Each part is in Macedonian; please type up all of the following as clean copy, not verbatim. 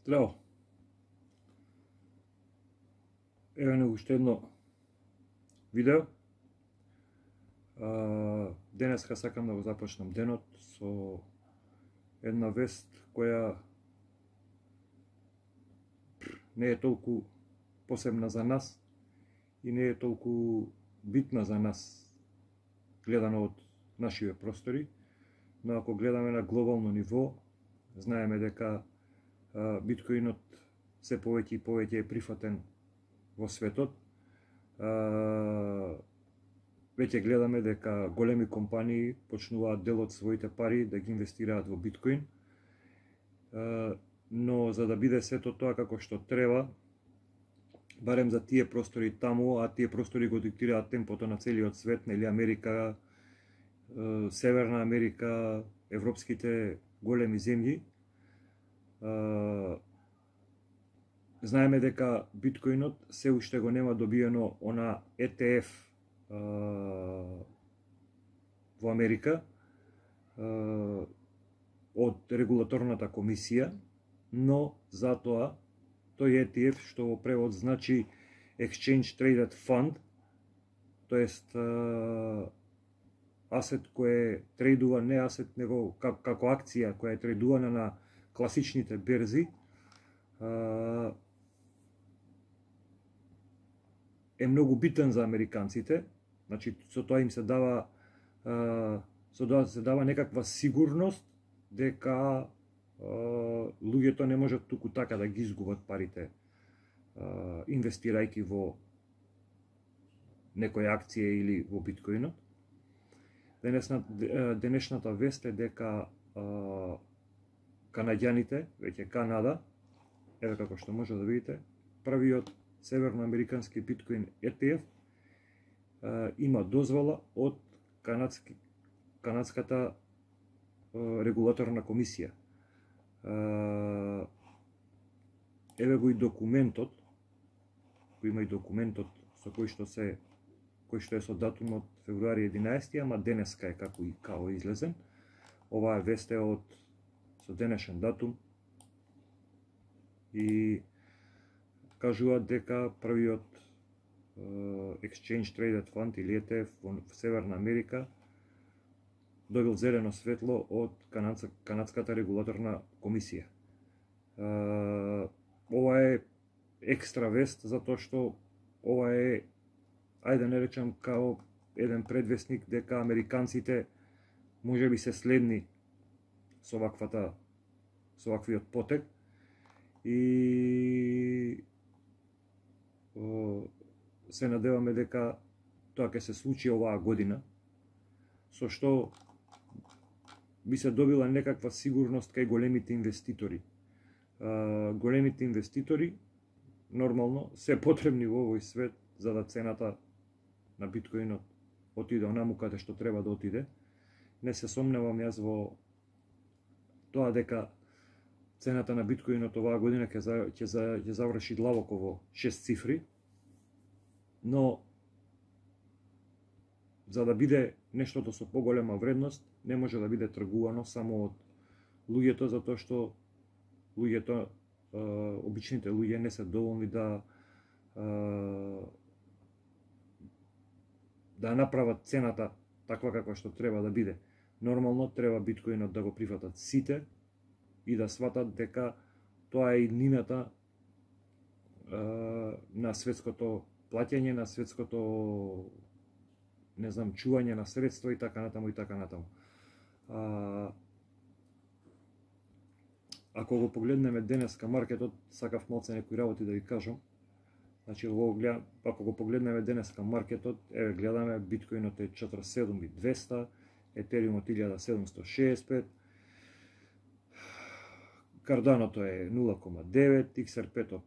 Здраво. Еве на уште едно видео. Денеска сакам да го започнам денот со една вест која не е толку посебна за нас и не е толку битна за нас гледано од нашиве простори, но ако гледаме на глобално ниво, знаеме дека биткоинот се повеќе и повеќе е прифатен во светот. Веќе гледаме дека големи компании почнуваат дел од своите пари да ги инвестираат во биткоин, но за да биде сето тоа како што треба, барем за тие простори таму, а тие простори го диктираат темпото на целиот свет, нели Америка, Северна Америка, европските големи земји. Знаеме дека биткоинот се уште го нема добиено она ETF во Америка од регулаторната комисија, но затоа тој ETF, што во превод значи Exchange Traded Fund, тоест асет кој трейдува, не асет него како акција која е трейдувана на класичните берзи, е многу битен за американците. Значи со тоа им се дава некаква сигурност дека луѓето не можат туку така да ги изгубат парите инвестирајќи во некоја акција или во биткоинот. Денешната вест е дека канаѓаните, веќе Канада, еве како што може да видите, првиот северноамерикански биткоин ETF има дозвола од канадската регулаторна комисија. Еве го и документот, кој има и документот со кој што е со датум од февруари 11, ама денеска е како и као излезен. Оваа вест е со денешен датум и кажуваат дека првиот Exchange Traded Fund или ETF во Северна Америка добил зелено светло од канадската регулаторна комисија. Ова е екстра вест затоа што ова е, ајде да не речам, као еден предвестник дека американците можеби се следни со ваквиот потек и се надеваме дека тоа ќе се случи оваа година, со што би се добила некаква сигурност кај големите инвеститори. Големите инвеститори нормално се потребни во овој свет за да цената на биткоинот отиде онаму каде што треба да отиде. Не се сомневам јас во тоа дека цената на биткоинот оваа година ќе заврши длабоко во 6 цифри, но за да биде нештото со поголема вредност, не може да биде тргувано само од луѓето, затоа што луѓето, обичните луѓе не се доволни да направат цената таква каква што треба да биде. Нормално треба биткоинот да го прифатат сите и да сватат дека тоа е иднината на светското плаќање, на светското, не знам, чување на средства и така натаму и така натаму. Ако го погледнеме денеска маркетот, сакав малце некои работи да ви кажам. Значи, ако го погледнеме денеска маркетот, еве гледаме, биткоинот е 47.200, етериумот 1765, карданото е 0.9, XRP-то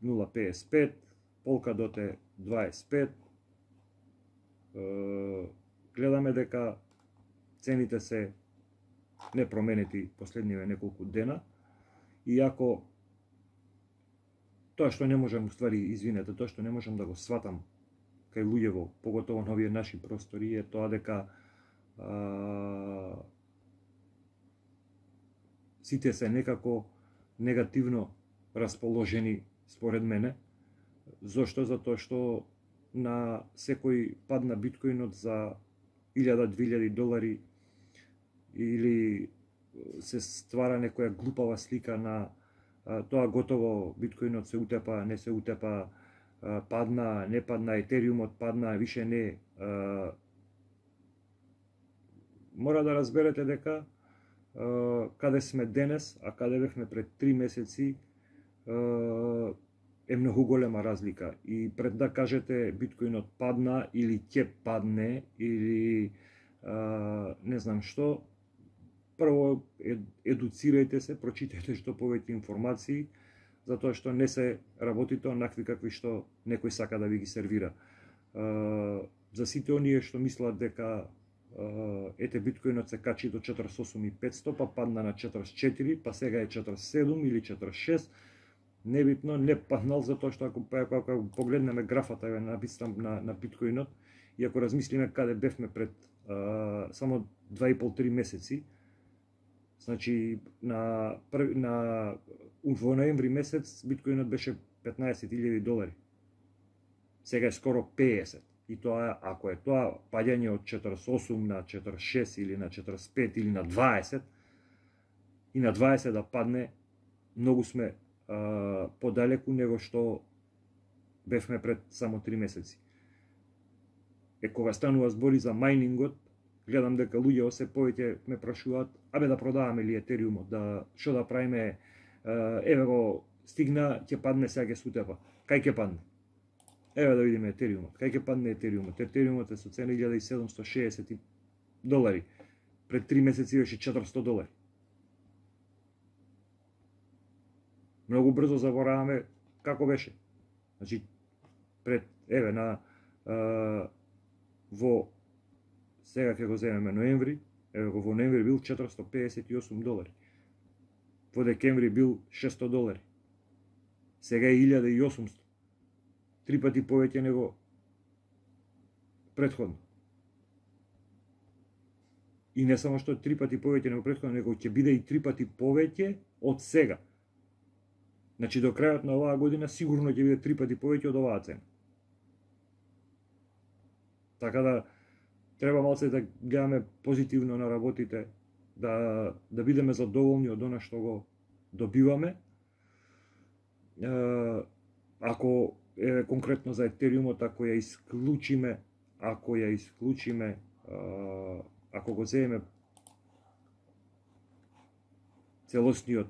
0.55, Polkadot е 25. Гледаме дека цените се непроменети последниве неколку дена, иако тоа што не можам, тоа што не можам да го сватам кај луѓево, поготово на овие наши простори, е тоа дека сите се некако негативно расположени според мене. Зошто? Затоа што на секој пад на биткоинот за $1000-2000 или се ствара некоја глупава слика на тоа готово, биткоинот се утепа, не се утепа, падна, не падна, етериумот падна, више не. Мора да разберете дека каде сме денес, а каде бевме пред 3 месеци, е многу голема разлика. И пред да кажете биткоинот падна или ќе падне или не знам што, прво едуцирајте се, прочитајте што повеќе информации, затоа што не се работите онакви какви што некој сака да ви ги сервира. За сите оние што мислат дека ете биткоинот се качи до 48.500, па падна на 44, па сега е 47 или 46, небитно, не паднал, затоа што ако погледнеме графата на биткоинот и ако размислиме каде бевме пред само 2,5-3 месеци, значи во ноември месец биткоинот беше $15,000. Сега е скоро 50. И тоа, ако е тоа паѓање од 48 на 46 или на 45 или на 20, и на 20 да падне, многу сме подалеку него што бевме пред само 3 месеци. Кога станува збори за мајнингот, гледам дека луѓе се повеќе ме прашуваат, абе да продаваме ли етериумот, што да правиме, еве го стигна, ќе падне, сега ќе сутепа. Кај ќе падне? Еве да видиме етериумот. Кај ќе падне етериумот? Етериумот е со цена $1,760. Пред 3 месеци беше $400. Многу брзо забораваме како беше. Значи, еве во сега ќе го земеме ноември, еве го во ноември бил $458. Во декември бил $600. Сега е 1800. 3 пати повеќе него претходно. И не само што 3 пати повеќе него претходно, него ќе биде и 3 пати повеќе од сега. Значи до крајот на оваа година сигурно ќе биде 3 пати повеќе од оваа цена. Така да треба малце да гледаме позитивно на работите, да бидеме задоволни од она што го добиваме. Ако конкретно за етериумот, ако го земеме целосниот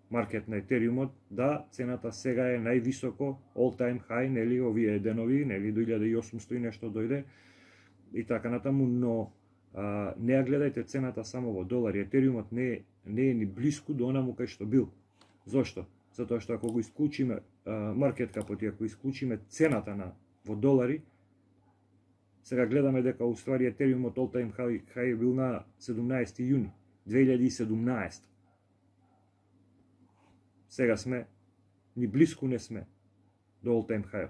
маркет на етериумот, да, цената сега е највисоко, all time high, нели, овие денови, нели, до 1800 и нешто дојде, и така натаму, но не ја гледајте цената само во долари. Етериумот не е ни близко до онаму кај што бил. Зошто? Затоа што ако го исклучиме маркет капот и ако исклучиме цената во долари, сега гледаме дека уствари етериумот all time high бил на 17 јуни 2017. Сега сме, ни близко не сме до all time high.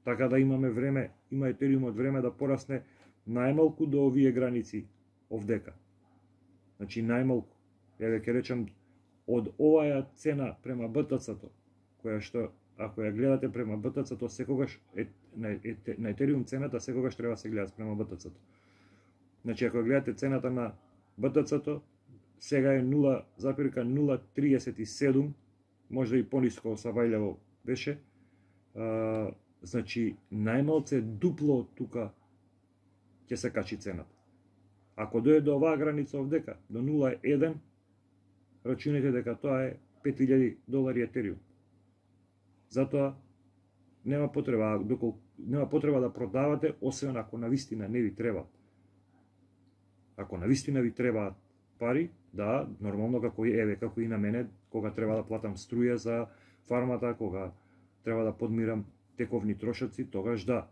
Така да имаме време, има етериумот време да порасне најмалку до овие граници овдека. Значи најмалку, еве ќе речам, од оваа цена према БТЦ-то, која што, ако ја гледате према БТЦ-то, секогаш на етериум цената секогаш треба да се гледа према БТЦ-то. Значи ако гледате цената на БТЦ-то, сега е 0,037, можда и пониско Савајлево беше, значи најмалце дупло тука ќе се качи цената. Ако дојде до оваа граница овдека, до 0,1, рачунете дека тоа е $5,000 етериум. Затоа нема потреба да продавате, освен ако навистина не ви треба. Ако навистина ви требаат пари, да, нормално како и на мене, кога треба да платам струја за фармата, кога треба да подмирам тековни трошоци, тогаш да.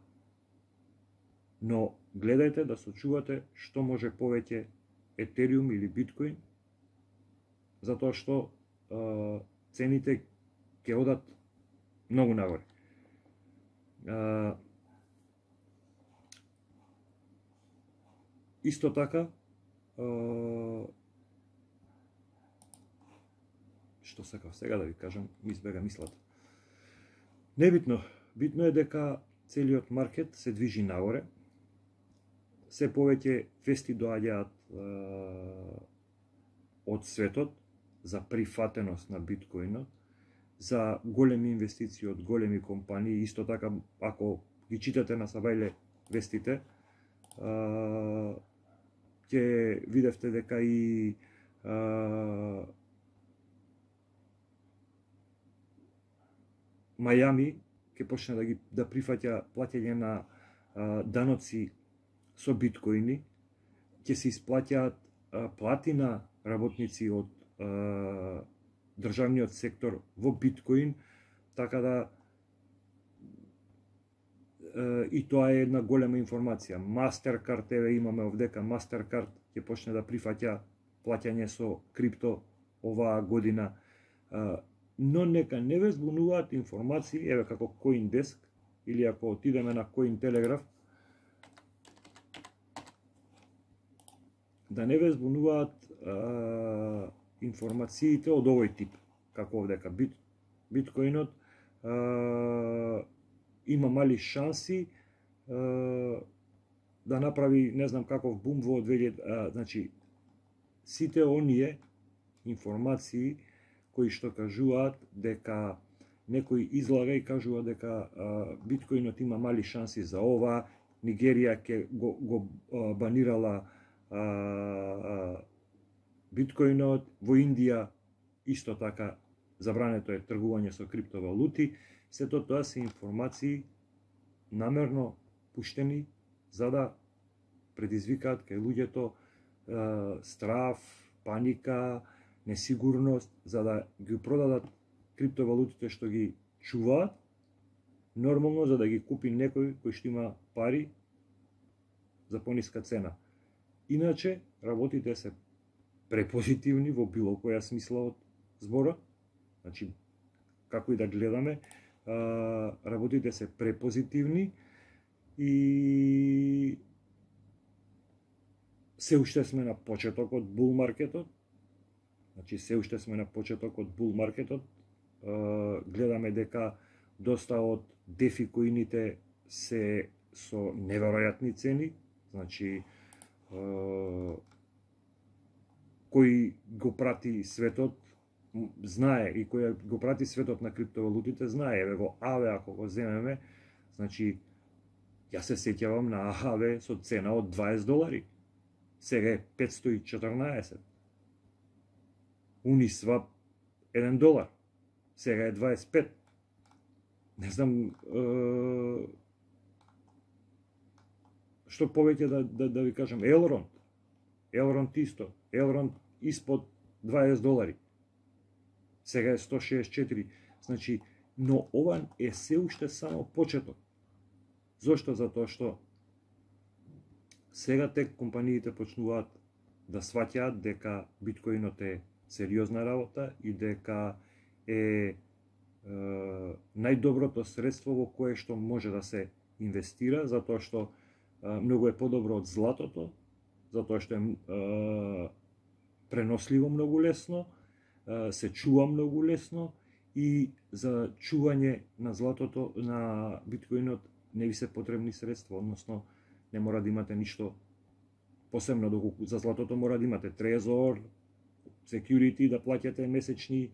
Но гледајте да сочувате што може повеќе етериум или биткоин, затоа што цените ќе одат многу нагоре. Исто така, што што сакав сега да ви кажам, ми избега мислата. Небитно, битно е дека целиот маркет се движи нагоре. Се повеќе вести доаѓаат од светот за прифатеност на биткоинот, за големи инвестиции од големи компании. Исто така, ако ги читате на Сабајле вестите, ќе видевте дека и Мајами ќе почне да прифаќа плаќање на даноци со биткоини, ќе се исплаќаат плати на работници од државниот сектор во биткоин, така да и тоа е една голема информација. Mastercard, еве имаме овдека, Mastercard ќе почне да прифаќа плаќање со крипто оваа година. Но нека не ве збунуваат информации, еве како CoinDesk, или ако отидеме на Cointelegraph, да не ве збунуваат информациите од овој тип, како овдека биткоинот има мали шанси да направи не знам каков бум во 2000, значи сите оние информации кои што кажуваат дека некој излага и кажува дека биткоинот има мали шанси за ова, Нигерија ќе го банирала биткоинот, во Индија исто така забрането е тргување со криптовалути. Сето тоа се информации намерно пуштени за да предизвикаат кај луѓето страв, паника, несигурност, за да ги продадат криптовалутите што ги чуваат, нормално за да ги купи некој кој што има пари за пониска цена. Иначе, работите се препозитивни во било која смисла од збора, значи, како и да гледаме, работите се препозитивни и се уште сме на почеток од бул маркетот, значи се уште сме на почеток од бул маркетот, гледаме дека доста од дефикоините се со неверојатни цени, значи кој го прати светот знае, и кој го прати светот на криптовалутите знае. Еве во АВЕ ако го земеме, значи јас се сеќавам на АВЕ со цена од $20, сега е 514. Uniswap $1, сега е 25. Не знам што повеќе да ви кажам. Елронд исто. Елронд испод $20. Сега е 164. Значи, но ова е се уште само почеток. Зошто? Затоа што сега тек компаниите почнуваат да сваќаат дека биткоинот е сериозна работа и дека е најдоброто средство во кое што може да се инвестира, затоа што многу е подобро од златото, затоа што е преносливо многу лесно, се чува многу лесно и за чување на златото, на биткоинот не ви се потребни средства, односно не мора да имате ништо посебно, доколку за златото мора да имате трезор, security, да плаќате месечни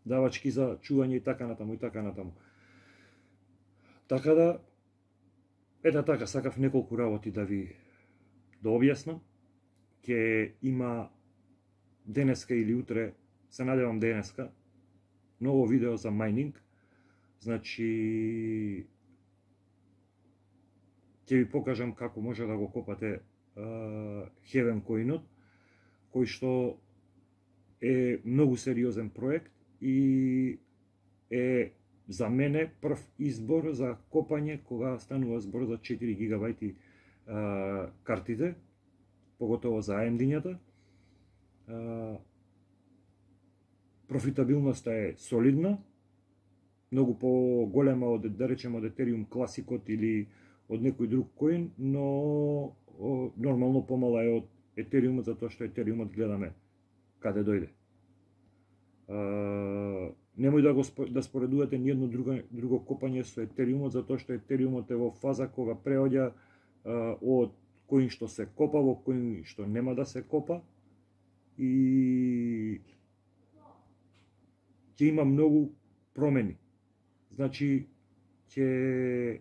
давачки за чување и така натаму и така натаму. Така да, ета така, сакав неколку работи да ви објаснам. Ќе има денеска или утре, се надевам денеска, ново видео за майнинг. Значи, ќе ви покажам како може да го копате Heaven коинот, кој што е многу сериозен проект и е за мене прв избор за копање кога станува збор за 4 гигабајти картите, поготово за AMD-њата. Профитабилноста е солидна, многу по-голема од, да речеме, од Ethereum класикот или од некој друг коин, но нормално помала е од Ethereum, затоа што Ethereum гледаме каде дојде. Немој да споредувате ни едно друго копање со етериумот, затоа што етериумот е во фаза кога преоѓа од кој што се копа во кој што нема да се копа и ќе има многу промени. Значи, ќе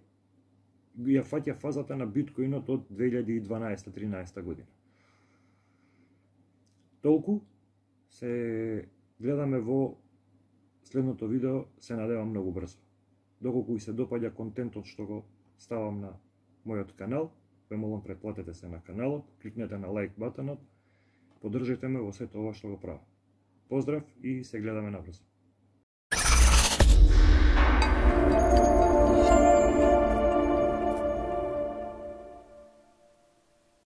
ја фаќа фазата на биткоинот од 2012-13 година. Толку, се гледаме во следното видео, се надевам многу брзо. Доколку ви се допаѓа контентот што го ставам на мојот канал, ве молам претплатете се на каналот, кликнете на лайк батонот, поддржете ме во сето ова што го правам. Поздрав и се гледаме набрзо.